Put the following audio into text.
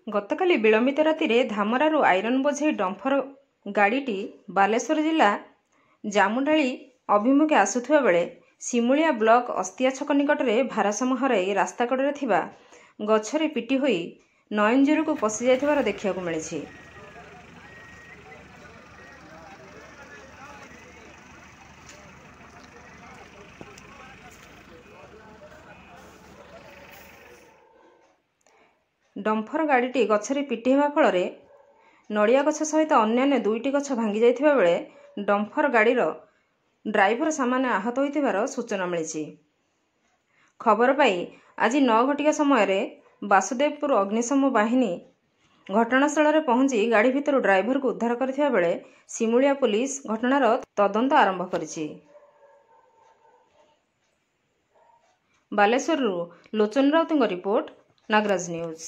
ଗତକାଲି ବିଳମ୍ବିତ ରାତିରେ ଧାମରାରୁ ଆଇରନ୍ ବୋଝେଇ ଡମ୍ଫର ଗାଡ଼ିଟି ବାଲେଶ୍ୱର ଜିଲ୍ଲା ଜାମୁଡାଳି ଅଭିମୁଖେ ଆସୁଥିବା ବେଳେ ସିମୁଳିଆ ବ୍ଲକ ଅସ୍ତିଆ ଛକ ନିକଟରେ ଭାରସାମ୍ୟ ହରାଇ ରାସ୍ତାକଡ଼ରେ ଥିବା ଗଛରେ ପିଟି ହୋଇ ନୟନଜୁରିକୁ ପଶିଯାଇଥିବାର ଦେଖିବାକୁ ମିଳିଛି। ଡମ୍ଫର ଗାଡ଼ିଟି ଗଛରେ ପିଟି ହେବା ଫଳରେ ନଡ଼ିଆ ଗଛ ସହିତ ଅନ୍ୟାନ୍ୟ ଦୁଇଟି ଗଛ ଭାଙ୍ଗି ଯାଇଥିବା ବେଳେ ଡମ୍ଫର ଗାଡ଼ିର ଡ୍ରାଇଭର ସାମାନ୍ୟ ଆହତ ହୋଇଥିବାର ସୂଚନା ମିଳିଛି। ଖବର ପାଇ ଆଜି 9 ଘଟିକା ସମୟରେ ବାସୁଦେବପୁର ଅଗ୍ନିଶମ ବାହିନୀ ଘଟଣାସ୍ଥଳରେ ପହଞ୍ଚି ଗାଡ଼ି ଭିତରୁ ଡ୍ରାଇଭରକୁ ଉଦ୍ଧାର କରିଥିବା ବେଳେ ସିମୁଳିଆ ପୋଲିସ ଘଟଣାର ତଦନ୍ତ ଆରମ୍ଭ କରିଛି। ବାଲେଶ୍ୱରରୁ ଲୋଚନ ରାଉତଙ୍କ ରିପୋର୍ଟ, ନାଗରାଜ ନ୍ୟୁଜ୍।